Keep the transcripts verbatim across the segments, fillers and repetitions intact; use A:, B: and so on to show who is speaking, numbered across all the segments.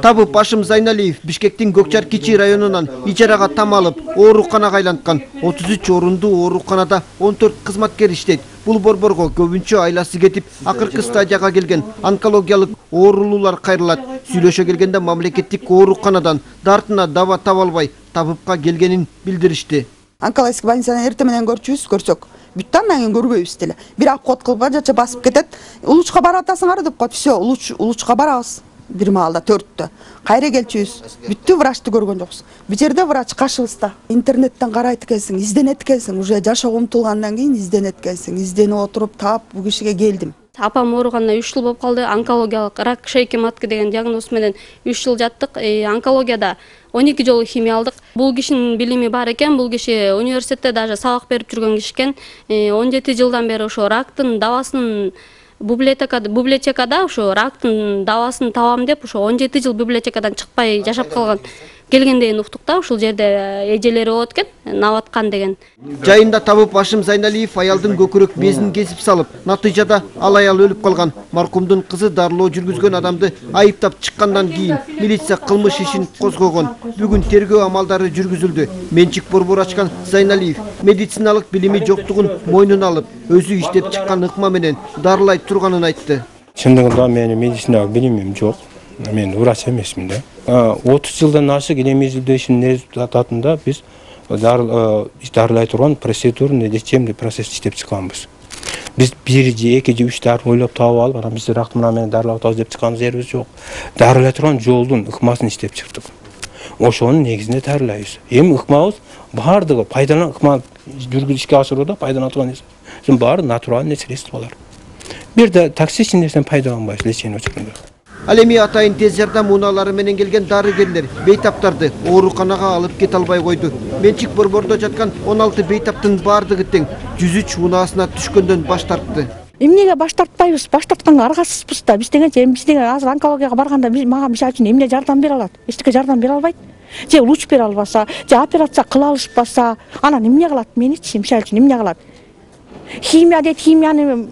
A: Табып Башым Зайналиев Бишкектин Көкчар Кичи районунан ижарага там алып, ооруканага айланткан. отуз үч орундуу ооруканада он төрт кызматкер иштейт. Бул борборго көбүнчө айласы кетип, акыркы стадияга келген онкологиялык оорулуулар кайрылат. Сүйлөшө келгенде мамлекеттик ооруканадан дартына даба таба албай, Табыпка келгенин билдиришти.
B: Онкологический больницаны эртең менен көрчүбүз, көрсөк. Бүттө андан кийин көрбөйбүз деле. Бир обход кылып жача басып кетет. Улучка барып атасыңар деп коет. Всё, улуч улучка барабыз. Бир маалда төрттө. Кайра келчүбүз. Бүттү врачты көргөн жокпуз. Бу жерде врач каршыбызда. Интернеттен карайт экенсиң, изденет экенсиң. Уже жашоого умтулгандан кийин изденет экенсиң. Изденип отуруп таап бу кишиге келдим.
C: Апам ооруганына үч жыл болуп калды. Онкологиялык рак шейки матки деген диагноз менен үч жыл жаттык. Онкологияда он эки жолу химия алдык. Бул кишинин билими бар экен. Бул киши университетте даже сабак берип жүргөн киши экен. он жети жылдан бери ошо рактын дабасын библиотекада библиотекада ошо рактын дабасын табам деп ошо он жети жыл библиотекадан чыкпай жашап калган. Келгенден уктук да ушул жерде эжелери болот экен, Наваткан деген.
A: Жайында Табып Башым Зайналиев аялдын көкүрөк безин кесип салып, натыйжада ал аял өлүп калган. Маркумдун кызы дарылоо жүргүзгөн адамды айыптап чыккандан кийин милиция кылмыш ишин козгогон. Бүгүн тергөө амалдары жүргүзүлдү. Менчик борбор ачкан Зайналиев медициналык билими жоктугун мойнуна алып, өзү иштеп чыккан ыкма менен дарылай турганын айтты.
D: Чындыгында менин медициналык билимим жок. Мен врач эмесмин да. отуз жылдан ашык эмизилдөө ишинин результатында биз дарылай турган процедурный лечебный процесс иштеп чыкканбыз. Биз бир же эки же үч дары ойлоп таап алып, анан биз ракты менен дарылап атабыз деп чыккан жерибиз жок. Дарылай турган жолдун ыкмасын иштеп чыктык. Ошонун негизинде дарылайбыз. Эми ыкмабыз баардыгы пайдалан ыкма жүргүз ишке ашырууда пайдалана турган нерсе. Баары натуральный средстволор. Бир да токсичный нерсени пайдаланбайбыз лечение учурунда.
A: Ал эми атайын тез жардам унаалары менен келген дарыгерлер бейтаптарды ооруканага алып кете албай койду. Менчик борбордо жаткан он алты бейтаптын баардыгы тең жүз үч унаасына түшкөндөн баш тартты.
E: Эмнеге баш тартпайбыз? Баш тартканга аргасызбыз да. Биз дегенче биз деген азыр онкологияга барганда биз мага мисалы үчүн эмне жардам бере алат? Эчтеке жардам бере албайт. Же луч бере албаса, же операция кыла алышпаса, анан эмне кылат? Меничи мисалы үчүн эмне кылат? Химия дейт, химияны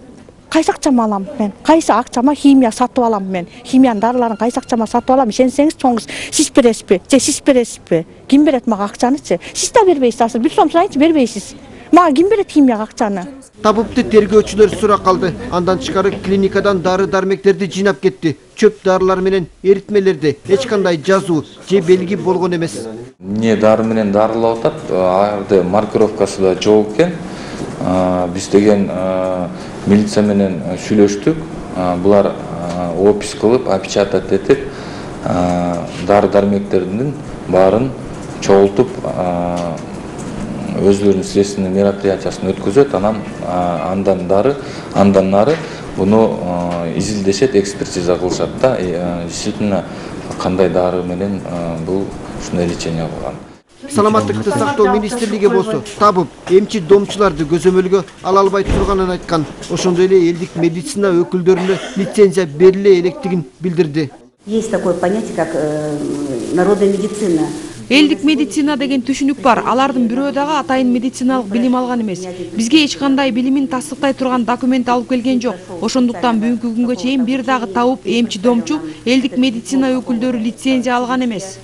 E: кайсы акчама алам мен? Кайсы акчама химия сатып алам мен? Химиянын дарыларын кайсы акчама сатып алам? Ишенсеңиз чоңуз сиз бересизби? Же сиз бересизби? Ким берет мага акчанычы? Сиз да бербейсиз, азыр бир сом сурайынчы бербейсиз. Мага ким берет химияга акчаны?
A: Табыпты тергөөчүлөр сурак калды. Андан тышкары клиникадан дары-дармектерди жыйнап кетти. Чөп дарылар менен эритмелерди эч кандай жазуу же белги болгон эмес.
F: Эмне дары менен дарылап атат? Арды маркировкасы да жок экен. Биз деген милиция менен сүйлөштүк. Булар опись кылып, опечатать этип, дары-дармектердин баарын чогултуп, өзлөрүнүн следственный мероприятиясын өткөзөт. Анан андан дары, андан нары буну изилдешет, экспертиза кылышат да. Действительно, кандай дары менен бул ушундай лечение кылган.
A: Саламаттыкты сактоо министрлиги болсо Табып эмчи домчуларды көзөмөлгө ала албай турганын айткан. Ошондой эле элдик медицина өкүлдөрүнө лицензия бериле электигин билдирди.
G: Есть такое понятие, как народная медицина.
H: Элдик медицина деген түшүнүк бар. Алардын бирөө дагы атайын медициналык билим алган эмес. Бизге эч кандай билимин тасдыктай турган документ алып келген жок. Ошондуктан бүгүнкү күнгө чейин бир дагы Табып эмчи домчу элдик медицина өкүлдөрү лицензия алган эмес.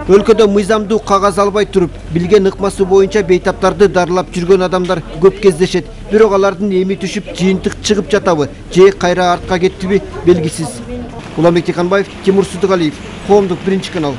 A: Өлкөдө мыйзамдуу кагаз албай туруп, билген ыкмасы боюнча бейтаптарды дарылап жүргөн адамдар көп кездешет. Бирок алардын эми түшүп, жыйынтык чыгып жатабы, же кайра артка кеттиби белгисиз. Уланбек Тиханбаев, Тимур Судугалиев, Коомдук биринчи канал.